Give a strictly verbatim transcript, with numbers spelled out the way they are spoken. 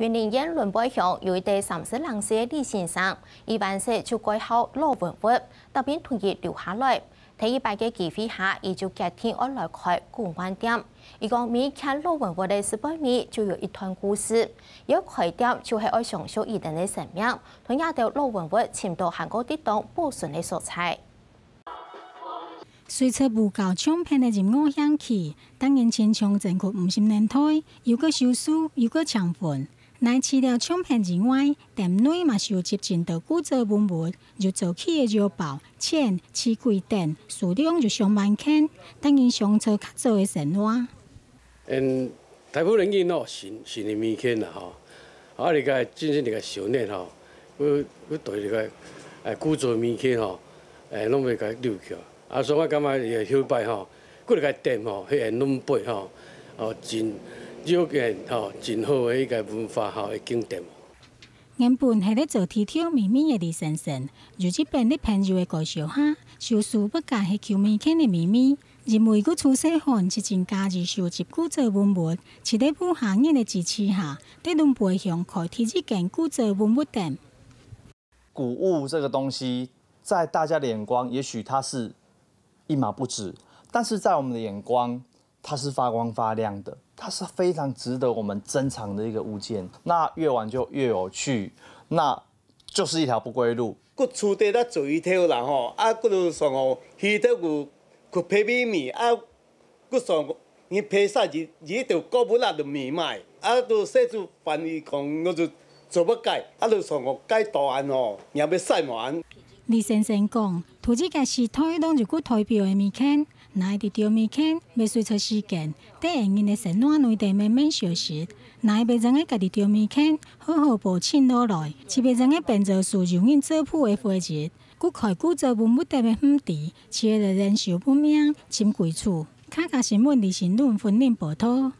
雲林縣崙背鄉有一個三十零歲个李先生，佢還細就蓋好老文物，特別同佢留下來。第一擺个機會下，佢就決定愛來開古玩店。佢講每一件老文物个背尾就有一段故事，要開店就係愛相信佢等个生命，同這兜老文物尋到還過得當保存个所在。隨著布教唱片个音樂興起，逐年親像前過五十年代，又過收書，又過請分。 乃除了唱片以外，店內嘛收集盡多古早文物，有早期个腰包、錢、刺蝟等，數量有上萬件，逐年想著較早个生活。嗯，大部分人哦，新新的物件啦吼，啊，你个真正你个少年吼，佢佢對你个誒古早物件吼，誒，攏會甲留去。啊，所以我感覺伊个後擺吼， 佢个店吼，迄个崙背吼，哦，真有个吼，真好个一个文化吼个景点。原本係咧做地條秘密个李先生，有一遍咧朋友个介紹下，收書不過係舊物件个秘密，因為佢出細漢就真喜歡收集古早文物，就在屋下人个支持下，在崙背鄉開第一間古早文物店。 古物这个东西，在大家的眼光，也许它是一毛不值，但是在我们的眼光，它是发光发亮的，它是非常值得我们珍藏的一个物件。那越玩就越有趣，那就是一条不归路。佢厝底咧做魚頭啦吼，啊，佢就上哦，魚頭佢佢皮咪咪啊，佢上你皮晒日日就高不辣就咪卖，啊，就洗出飯佢講，我就做不改，啊，就上哦改答案吼，也要晒满。李先生讲，土地个时代当有个代表个物件，哪一个物件，要随着时间，在人的生活内底慢慢消失，哪一个人个家己个物件， 好好保存落来，特別正个變做有人照顧个回憶。佢開古早文物店个毋知，只係人壽不明，尋歸處。客家新聞李新倫雲林報導。